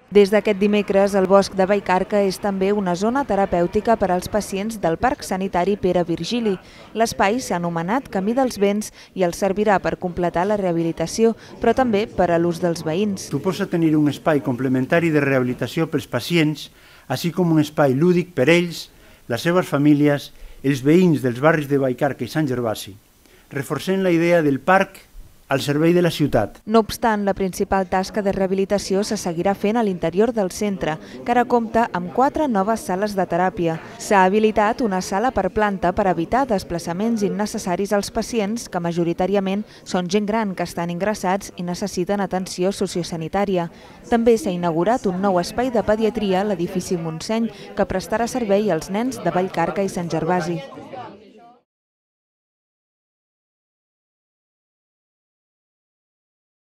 Des d'aquest dimecres, el Bosc de Vallcarca és també una zona terapèutica per als pacients del Parc Sanitari Pere Virgili. L'espai s'ha anomenat Camí dels Vents i els servirà per completar la rehabilitació, però també per a l'ús dels veïns. Suposa tenir un espai complementari de rehabilitació pels pacients, així com un espai lúdic per ells, les seves famílies, els veïns dels barris de Vallcarca i Sant Gervasi, reforçant la idea del parc al servei de la ciutat. No obstant, la principal tasca de rehabilitació se seguirà fent a l'interior del centre, que ara compta amb 4 noves sales de teràpia. S'ha habilitat una sala per planta per evitar desplaçaments innecessaris als pacients, que majoritàriament són gent gran que estan ingressats i necessiten atenció sociosanitària. També s'ha inaugurat un nou espai de pediatria a l'edifici Montseny, que prestarà servei als nens de Vallcarca i Sant Gervasi.